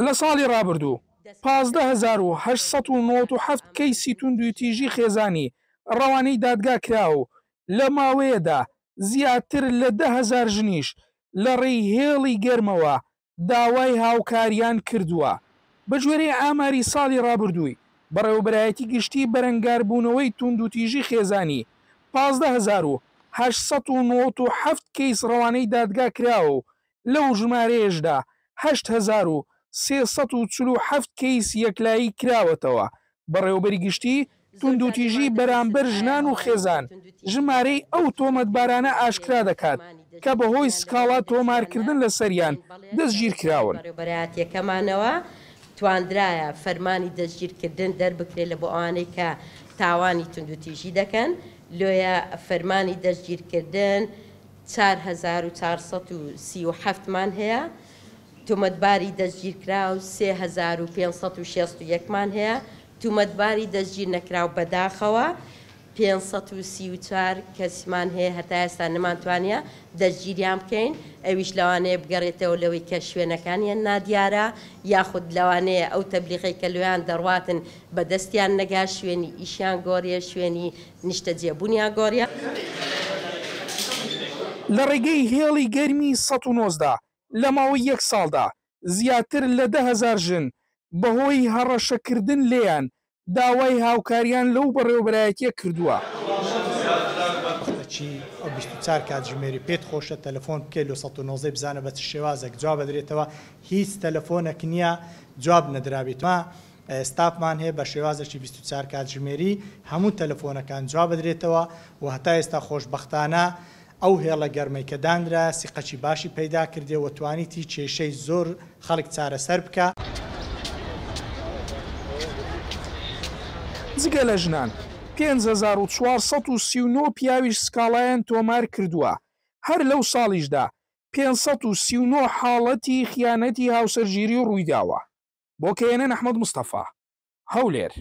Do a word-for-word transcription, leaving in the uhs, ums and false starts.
لە ساڵی ڕابردوو پازدە هەزار و هەشت سەد و نەوەد و حەفت کەیسی توندوتیژی خێزانی ڕەوانەی دادگا کرا و لە ماوەیەدا زیاتر لە دە هەزار ژنیش لە ڕێی هێڵی گەرمەوە داوای هاوکاریان کردووە. بەگوێرەی ئاماری ساڵی ڕابردووی بەڕێوەبەرایەتی گشتی بەرەنگاربوونەوەی توندوتیژی خێزانی پازدە هەزار و هەشت سەد و نەوەد و حەفت کەیس ڕەوانەی دادگا کراوە و لەو ژمارەیەشدا هەشت هەزار و سێ سەد و چل و حەفت کەیس یەکلایی کراوەتەوە. بەڕێوەبەری گشتی توندوتیژی بەرامبەر ژنان و خێزان ژمارەی ئەو تۆمەتبارانە ئاشکرا دەکات کە بەهۆی سکاڵا تۆمارکردن لەسەریان دەستگیر کراون. تواندرایە فەرمانی دەستگیرکردن دەربکرێت لە بۆ ئەوانەی کە تاوانی توندوتیژی دەکەن. لۆیە فەرمانی دەستگیرکردن چوار هەزار و چوار سەد و سی و حەفتمان هەیە، تۆمەتباری دەستگیرکراو سێ هەزار و پێنج سەد و شەست و یەکمان هەیە، تۆمەتباری دەستگیر نەکراو بەداخەوە پێنج سەد و سی و چوار کەسمان هەیە هەتا ئێستا نەمانتوانیە دەستگیریان بکەین. ئەویش لەوانەیە بگەڕێتەوە لەوەی کە شوێنەکانیان نادیارە، یاخود لەوانەیە ئەو تەبلیغەی کە لەویان دەڕواتن بەدەستیان نەگا، شوێنی ئیشیان گۆڕیە، شوێنی نیشتەجێبوونیان گۆڕیە. لە ڕێگەی هێڵی گەرمی سەد و نۆزدە لە ماوەی یەک ساڵدا زیاتر لە دە هەزار ژن بەهۆی هەڕەشەکردن لێیان داوای هاوکاریان لەو بەڕێوەبەرایەتیە کردووە. ئەو بیست و چوار کاتژمێری پێت خۆشە تەلەفۆن بکەیت لە سەد و نۆزدە بزانە بە چ شێوازێک جواب بدرێتەوە. هیچ تەلەفۆنێک نییە جواب نەدرابێت. ما ستافمان هەیە بە شێوازێکی بیست و چوار کاتژمێری هەموو تەلەفۆنەکان جواب بدرێتەوە و هەتا ئێستا خۆشبەختانە ئەو هێڵە گەرمەی کە دانرا سیقەکی باشی پەیدا کردێ و توانیتی کێشەی زۆر خەڵک چارەسەر بکە. جگە لە ژنان پێنج هەزار و چوار سەد و سی و نۆ پیاویش سکاڵایان تۆمار کردووە. هەر لەو ساڵیشدا پێنج سەد و سی و نۆ حاڵەتی خیانەتی هاوسەرگیری ڕوویداوە. بۆ کەیەنەن ئەحمەد مستەفا، هەولێر.